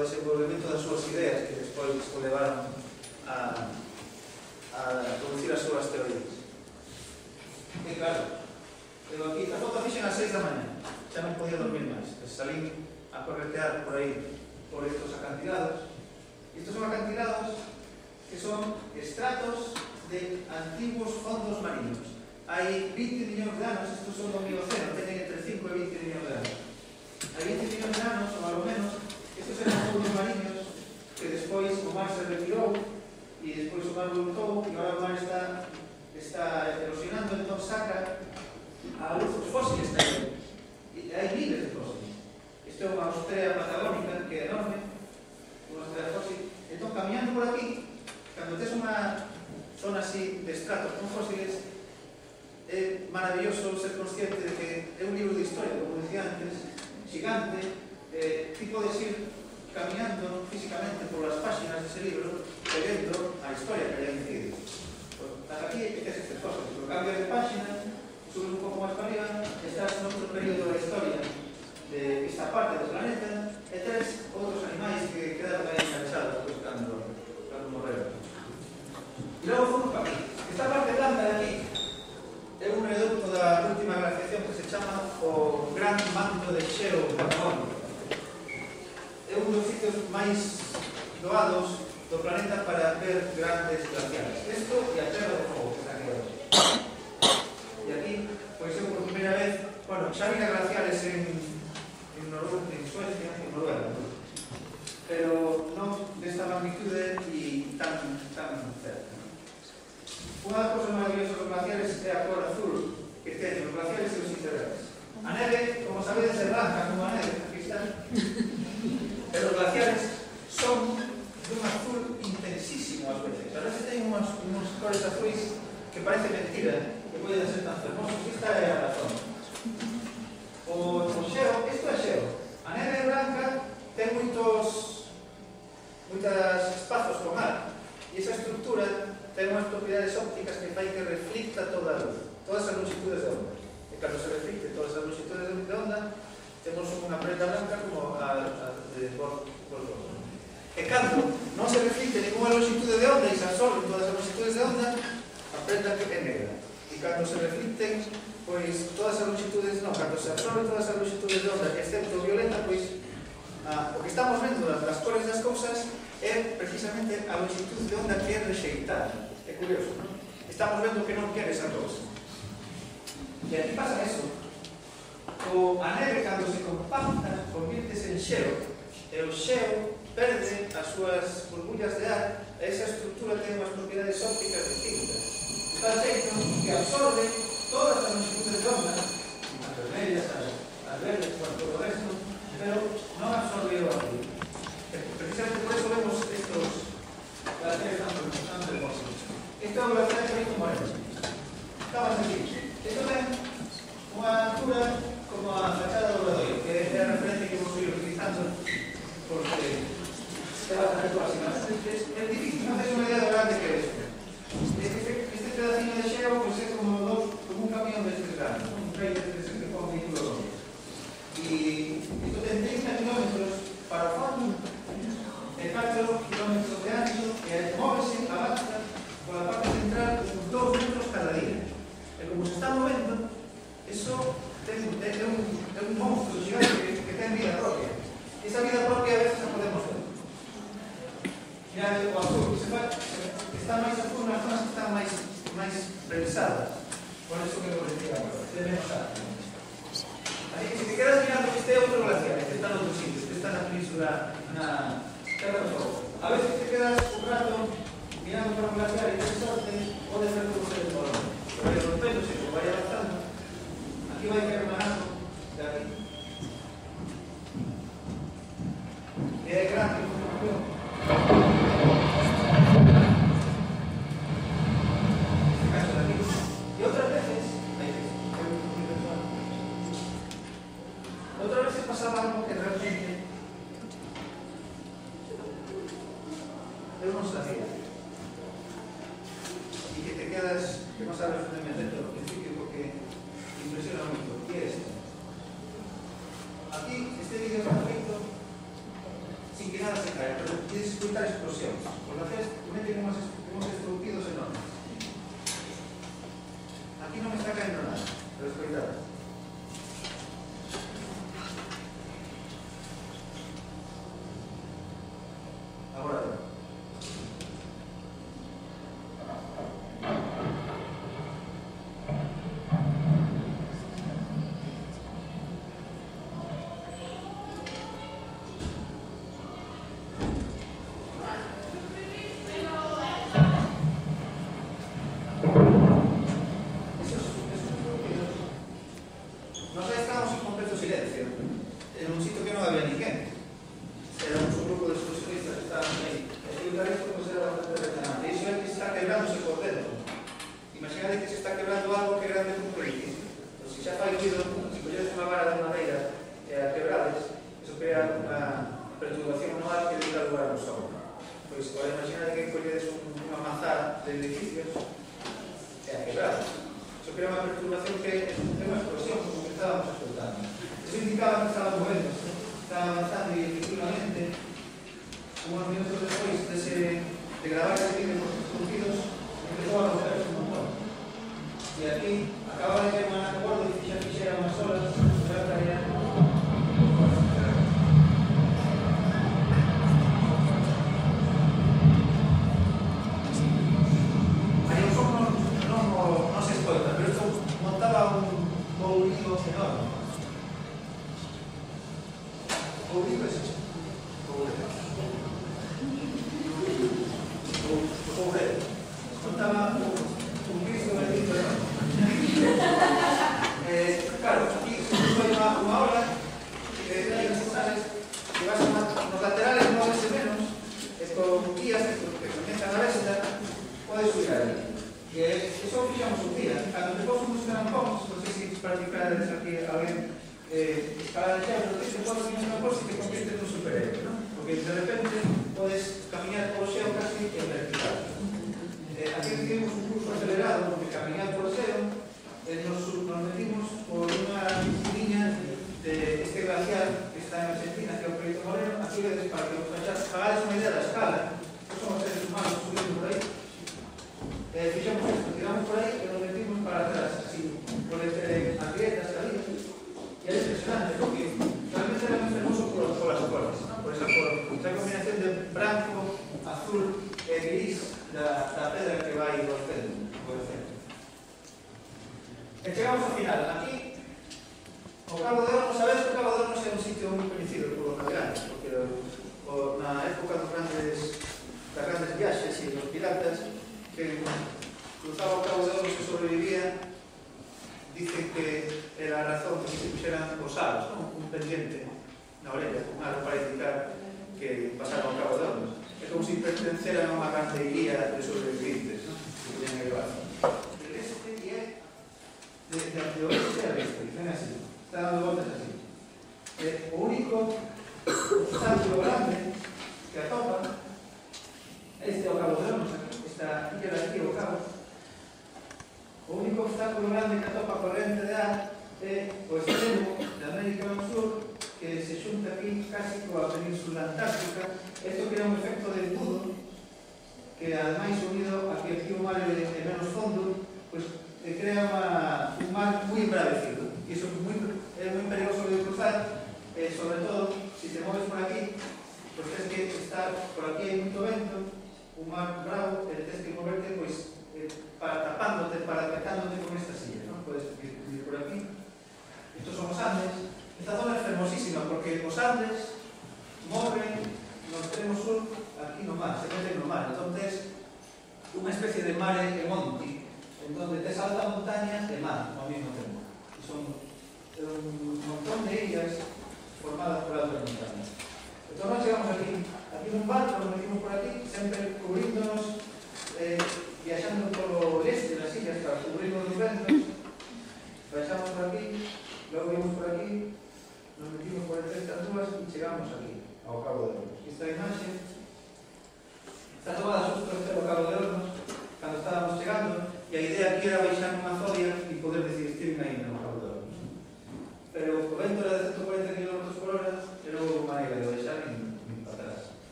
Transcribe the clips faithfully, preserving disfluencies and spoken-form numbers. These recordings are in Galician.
o desenvolvemento das súas ideas que despois o levaron a, a producir as súas teorías. E claro, eu aquí, a foto fixen ás seis da mañá, xa non podía dormir máis, salín a corretear por aí, por estos acantilados. Estos son acantilados que son estratos de antiguos fondos marinos. Hai vinte millóns de anos, estos son do Mioceno, teñen entre cinco e vinte millóns de anos. Hai vinte millóns de anos, ou ao menos, estos eran fondos marinos que despois o mar se retirou e despois o mar voltou e agora o mar está, está erosionando, entón saca a luz os fósiles tamén. E hai miles de fósiles. Isto é unha Austria patagónica que é enorme, unha Austria fósil. Entón, camiñando por aquí, cando tes unha zona así de estratos con fósiles, é maravilloso ser consciente de que é un libro de historia, como decía antes, gigante, eh, ti podes ir camiñando físicamente por las páxinas dese libro e vendo a historia que hai metido. Estás aquí e tes estas cosas, pero cambias de páxina, subes un pouco máis para arriba, estás noutro período da historia de esta parte do planeta e tes outros animais que quedaron aí enganchados pues, cando, cando morreron. E logo fomos para aquí. Esta parte blanca de aquí é un reducto da última glaciación que se chama o Gran Manto de Xeo Patagónico. É un dos sitios máis doados do planeta para ver grandes glaciares. Isto e a Terra do Fogo, que está aquí hoxe. E aquí, pois eu por primeira vez, bueno, xa vina glaciares en, en, Noruega, en Suecia, en Noruega, ¿no? Pero non desta magnitude e tan, tan cerca. Unha das cosas maravillosas dos glaciares é a cor azul que teñen os glaciares e os icebergs. A neve, como sabedes, é blanca como a neve, aquí está. Pero os glaciares son dun azul intensísimo ás veces. A veces teñen unhas, unhas cores azuis que parece mentira que poden ser tan fermosos. Esta é a razón. O, o xeo, isto é xeo. A neve blanca ten moitos moitos espazos con ar e esa estructura ten unhas propiedades ópticas que fai que reflicta toda a luz, todas as longitudes de onda. E cando se reflicte todas as longitudes de onda, temos unha prenda blanca como a, a de Borg. E cando non se reflicte ninguna longitude de onda e se absorben todas as longitudes de onda, a prenda que é negra. E cando se reflicten, pois todas as longitudes, non, cando se absorben todas as longitudes de onda, excepto violeta, pois ah, o que estamos vendo das, das cores das cousas é precisamente a longitud de onda que é rexeitada. É curioso, non? Estamos vendo que non quere esa cousa. E aquí pasa eso. O a neve, cando se compacta, convirtese en xeo, e o xeo perde as súas burbullas de ar, e esa estructura ten unhas propiedades ópticas distintas. Está feito que absorbe todas as longitudes de onda, as vermellas, as, as verdes, por todo o resto, pero non absorbe o azul. Precisamente por eso vemos estos glaciares tan hermosos. Este é un glaciar que vem como é. Estamos aquí. Isto ten unha altura como a fachada do Obradoiro, que é a referencia que vamos a ir utilizando porque é bastante próxima. É difícil non hacer unha idea do grande que é isto. Este, este pedacino de xeo pues, é como, dos, como un camión destes grandes, un trailer destes que con vehículo. E isto ten trinta kilómetros para o fondo e catro kilómetros de ancho e móvese, avanza pola parte central uns dous metros cada día. E como se está movendo, eso ten, é, un, é un monstro gigante que, que ten vida propia. E esa vida propia a veces a podemos ver. Mira o azul, se va, está máis azul nas zonas que están máis, máis revisadas. Por eso que lo decía agora, ten menos ar. Así que se te quedas mirando que este é outro glaciar, este está en outro sitio, este está na península, na Terra do Fogo. A veces te quedas un rato mirando para un glaciar e te sorte, pode ser como se desmorona. Pero rompéndose, como vai avanzando, aquí vai caer un arco de aquí. E é grande, como y otras veces, otras veces pasaba algo que realmente yo no sabía y que te quedas, que no sabes dónde meterlo al principio porque impresiona mucho. ¿Qué es esto? Aquí, este vídeo está feito sin que nada dificultar explosións. Os glaciares meten unhos, unhos estructidos enormes. Aquí non me está caendo nada, pero escoitad. Agora ben.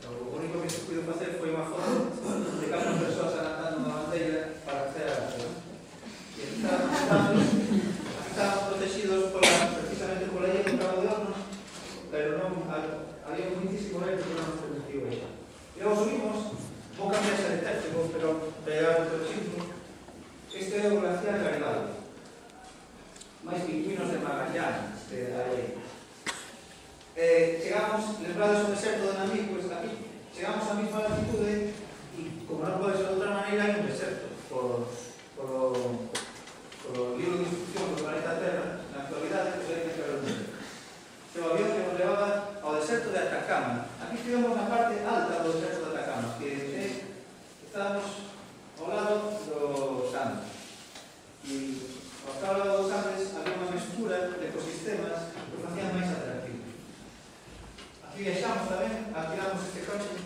Pero o único que contemplades o deserto de Namib, pues aquí chegamos á mesma altitude e, como non pode ser de outra maneira, hai un deserto por, por, o, por o libro de instrucción do planeta Terra. Na actualidade, pues hai que entrar un deserto. O avión que nos levaba ao deserto de Atacama. Aquí estivemos na parte alta do deserto de Atacama, que é, estábamos ao lado dos Andes. E ao lado dos Andes había unha mestura de ecosistemas que facían máis atractivos. Aquí viaxamos tamén, alquilamos este coche,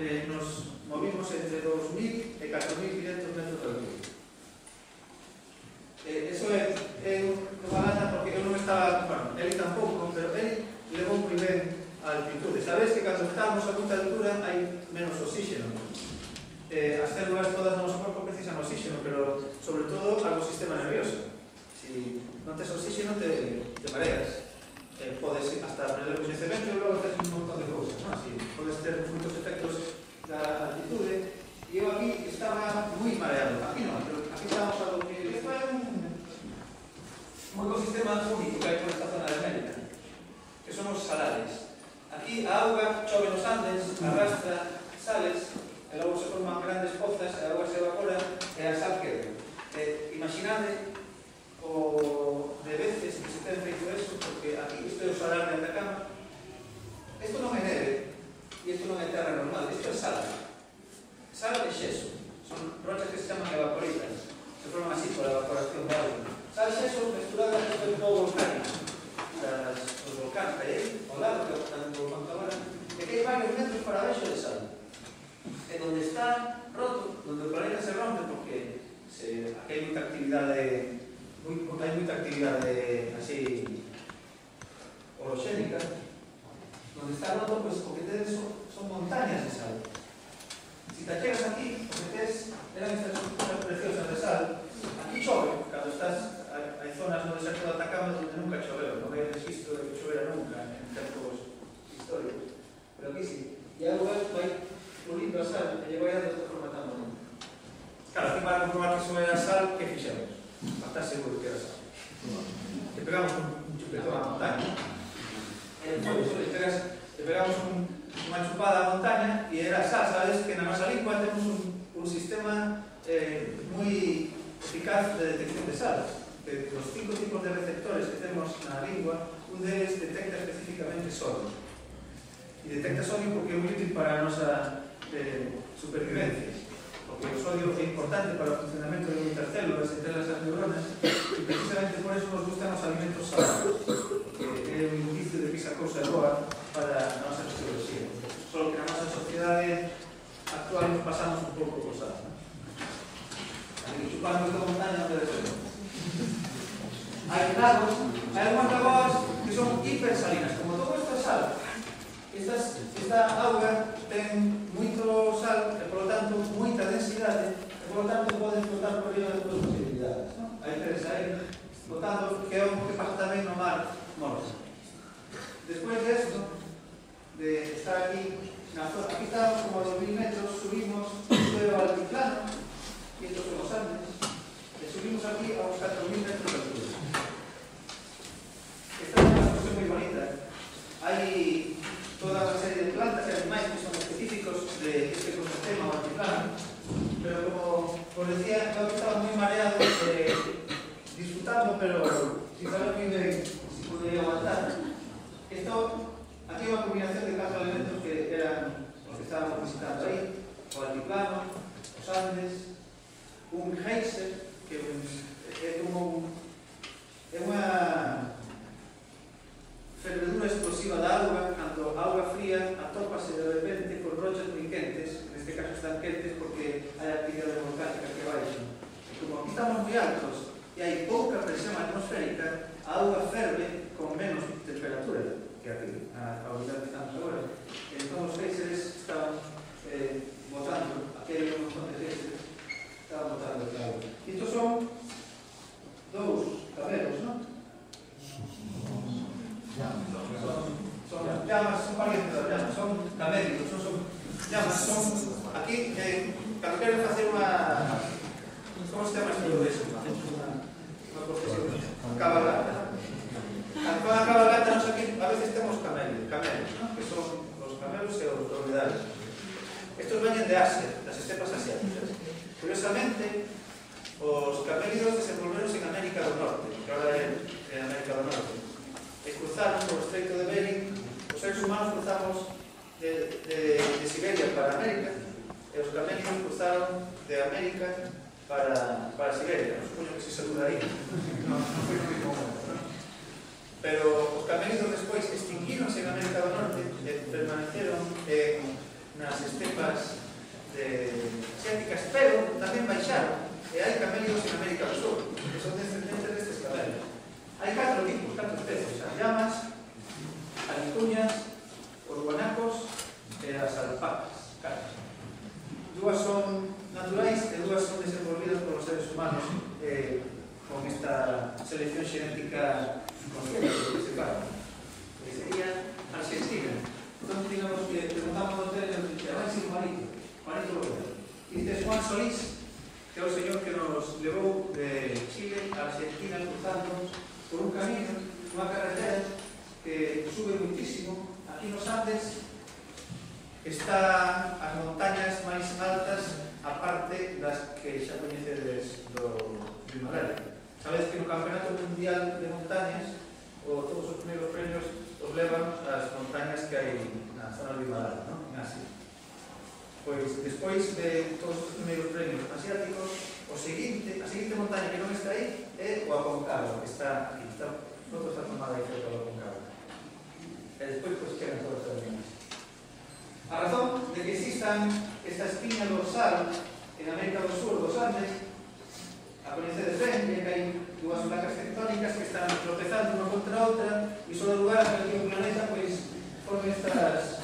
eh, nos movimos entre dos mil e catro mil quinhentos metros de altura. Eh, eso é, é unha lata porque eu non estaba, bueno, ele tampouco, pero ele levou moi ben a altitude. Sabes que cando estamos a moita altura hai menos oxígeno. Eh, as células todas do noso corpo precisan oxígeno, pero sobre todo algo sistema nervioso. Si non tes oxígeno te, te mareas. Eh, podes hasta aprender o coñecemento e logo tes un montón de cousas, ¿no? Si podes ter moitos efectos da altitude. E eu aquí estaba moi mareado. Aquí non, pero aquí estamos a do que isto é un, un ecosistema único que hai por esta zona de América, que son os salares. Aquí a auga chove nos Andes, arrastra sales, e logo se forman grandes pozas, a auga se evapora e a sal queda. Eh, imaginade o de veces que se ten feito eso, porque aquí isto é o salar de Atacama. Isto non é neve e isto non é terra normal, isto é sal. Sal e xeso. Son rochas que se chaman evaporitas, se forman así por a evaporación de auga. Sal e xeso mesturadas con o polvo volcánico das, dos volcáns que hai aí ao lado, que é o volcán agora, e que hai varios metros para abaixo de sal. E donde está roto, donde o planeta se rompe, porque se, aquí hai moita actividade Muy, hai moita actividade así orogénica, donde está roto, pues o que tedes son, son montañas de sal. Si te chegas aquí, o que tes eran estas cosas preciosas de sal. Aquí chove, cando estás, hai zonas no deserto de Atacama donde nunca choveu, non hai registro de que chovera nunca en tempos históricos, pero aquí sí. E a auga vai pulindo a sal e lle vai dando esta forma tan bonita. Claro, aquí para comprobar que sobre a sal, que fixemos? Para estar seguro que era sal. Le pegamos un chupetón a la montaña. En el suelo le, pegas, le pegamos un, una chupada a la montaña y era sal. Sabes que en la nuestra lengua tenemos un, un sistema eh, muy eficaz de detección de sal. De los cinco tipos de receptores que tenemos en la lengua, un de ellos detecta específicamente sodio. Y detecta sodio porque es muy útil para nuestra eh, supervivencia. Porque o sodio é importante para o funcionamento de moitas células, entre elas as neuronas, e precisamente por eso nos gustan os alimentos salados, porque é un indicio de que esa cousa é boa para a nosa fisioloxía. Só que na nosa sociedade actual nos pasamos un pouco por sal. Así que chupamos esta montaña onde descemos. Hai lagos, hai algunhas lagoas que son hipersalinas, como todo isto é sal. Estas, esta auga ten moito sal e, por lo tanto, moita densidade e, por lo tanto, pode flotar por riba de todas as posibilidades. ¿No? Hai tres aí flotando, que é o que pasa tamén no mar Morse. Despois de esto, de estar aquí, na zona, aquí estamos como a dos mil metros, subimos, isto é o altiplano, e estos son os Andes, e subimos aquí a uns catro mil metros de altura. Esta é unha situación moi bonita. Hai toda unha serie de plantas e animais que son específicos de este ecosistema o altiplano, pero como os decía, eu estaba moi mareado eh, disfrutando, pero sin saber moi ben si podría aguantar. Esto, aquí hai unha combinación de catro elementos que eran os que estábamos visitando aí: o altiplano, os Andes, un geyser, que é como é unha fervedura explosiva da auga, cando a auga fría atópase de repente con rochas moi quentes, neste caso están quentes porque hai actividade volcánica que baixo. E como aquí estamos moi altos e hai pouca presión atmosférica, a auga ferve con menos temperatura que aquí, a unidade que estamos agora. Entón os géiseres están eh, botando, aquí hai un montón de géiseres, estaban botando esta auga. E estos son dous cabelos, non? Son, son llamas, son parientes das llamas, son camélicos, non son llamas, son aquí, eh, cando queren facer unha, como se chama isto de eso? Unha profesión, cabalgata. Cando van a cabalgata, nos aquí a veces temos camelos, camelos, ¿no? Que son cruzaron por o Estreito de Bering, os seres humanos cruzamos de, de, de Siberia para América, e os camélidos cruzaron de América para, para Siberia. Non supoño que se saluda aí, non, non foi moi común, non? Pero os camélidos despois extinguíronse en América do Norte e permaneceron en, nas estepas de, asiáticas, pero tamén baixaron, e hai camélidos en América do Sur, que son descendentes destes camélidos. Hai catro tipos, catro especies: as llamas, as vicuñas, os guanacos e as alpacas. Catro. Dúas son naturais e dúas son desenvolvidas por os seres humanos eh, con esta selección xenética consciente, que se fala. Que sería Argentina. Entón, digamos que preguntamos ao hotel e nos dice: vai ser Juanito, Juanito López. E dices Juan Solís, que é o señor que nos levou de Chile a Argentina cruzando por un camino, unha carretera que sube muitísimo. Aquí nos Andes están as montañas máis altas, aparte das que xa coñecedes do Himalaya. Sabedes que no Campeonato Mundial de Montañas o todos os primeiros premios os levan as montañas que hai na zona do Himalaya, ¿no? En Asia. Pois, despois de todos os primeiros premios asiáticos, o seguinte, a seguinte montaña que non está aí é o Aconcagua, que está aquí, está, non está tomada aí cerca do Aconcagua. E despois, pois, quedan todas as demais. A razón de que existan esta espiña dorsal en América do Sur, dos Andes, a coñecedes ben, que hai dúas placas tectónicas que están tropezando unha contra a outra e só dá lugar a que o planeta pois forme estas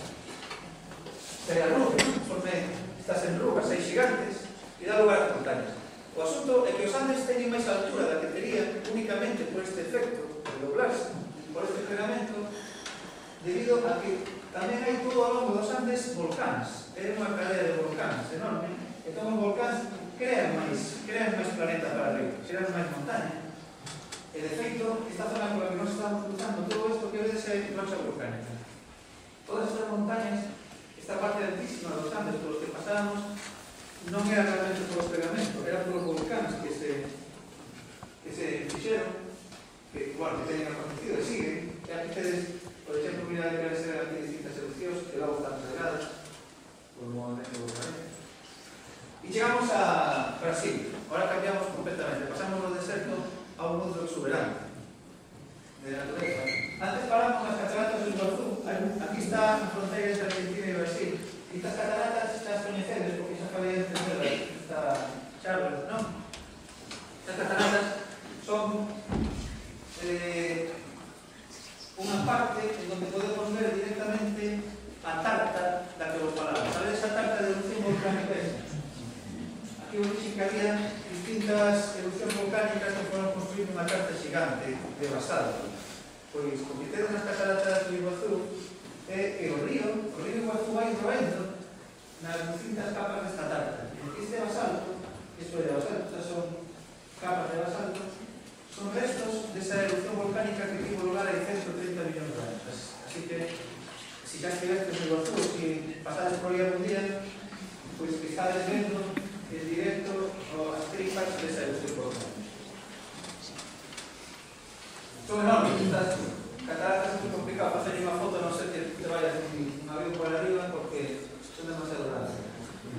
terarrugas, forme estas enrugas aí gigantes e dá lugar a montañas. O asunto é que os Andes teñen máis altura da que terían únicamente por este efecto de doblarse, por este pegamento, debido a que tamén hai todo ao longo dos Andes volcáns. É unha cadea de volcáns enorme. Entón os volcáns crean máis, crean máis planeta para arriba, crean máis montaña. E de feito, esta zona por la que nos estamos cruzando, todo isto que vedes é rocha volcánica. Todas estas montañas, esta parte altísima dos Andes por os que pasábamos, non era realmente por os pegamentos, era por os volcáns que se que se fixeron, que, bueno, que teñen acontecido e siguen. E aquí tedes, por exemplo, mira que vai ser aquí distintas erupcións que logo están cargadas por un movimento volcánico. E chegamos a Brasil. Ahora cambiamos completamente. Pasamos do deserto a un mundo exuberante de natureza. Antes paramos nas cataratas do Iguazú. Aquí está a fronteira entre Argentina e Brasil. E estas cataratas estas coñecedes, porque xa acabei de entenderlas. Esta charla, non? Estas cataratas son eh, unha parte en donde podemos ver directamente a tarta da que vos falamos. Sabedes a tarta de erupción volcánica esta? Aquí vos dixen que había distintas erupcións volcánicas que foron construir unha tarta xigante de basalto. Pois, o que tedes nas cataratas do Iguazú é que o río, o río Iguazú vai roendo nas distintas capas desta tarta. Este basalto, isto é de basalto, estas son capas de basalto, son restos desa erupción volcánica que tivo lugar hai ciento treinta millóns de anos. Así que, se xa estivestes no Iguazú, se pasades por aí algún día, pois que estades vendo en directo as tripas desa erupción volcánica. Son enormes, estas cataratas é moi complicado facer unha foto, non sei que te vayas un avión por arriba porque son demasiado grandes.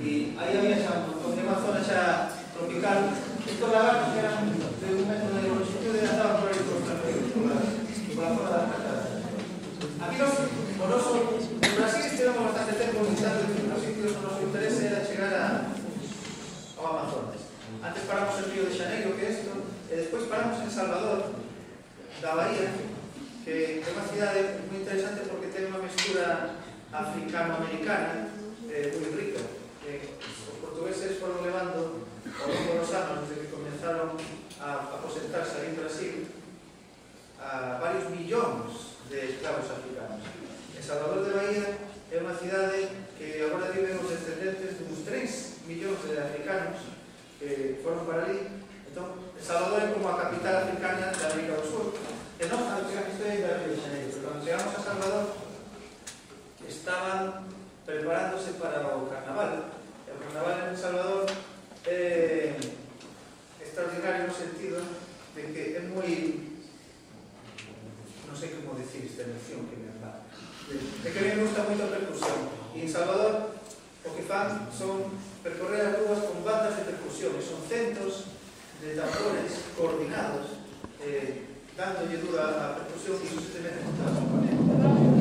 E aí había xa un montón de unha zona xa tropical. Estos lagartos que eran de un metro de longitud estaban por aí por os tranquilos, por la, por la zona das cataratas. Aquí nos, o noso, en Brasil estivemos bastante tempo visitando distintos sitios, o noso interese era chegar a, ao Amazonas. Antes paramos en Río de Janeiro, que é isto, e despois paramos en Salvador, da Bahía, que é unha cidade moi interesante porque ten unha mestura africano-americana eh, moi rica. Eh, os portugueses foron levando ao longo dos anos, desde que comenzaron a aposentarse aí en Brasil, a varios millóns de esclavos africanos. En Salvador de Bahía é unha cidade que agora viven os descendentes de uns tres millóns de africanos que foron para ali. Entón, Salvador é como a capital africana da América do Sur. E non, cando chegamos isto aí da Río de Janeiro, pero cando chegamos a Salvador estaban preparándose para o carnaval. E o carnaval en Salvador é extraordinario no sentido de que é moi, non sei como dicir, resistir esta emoción que me anda. É que a mí me gusta moito a percusión. E en Salvador, o que fan son percorrer as rúas con bandas de percusión, e son centros de tambores coordinados, eh, dándolle dura a percusión, e iso se te mete con toda a componente.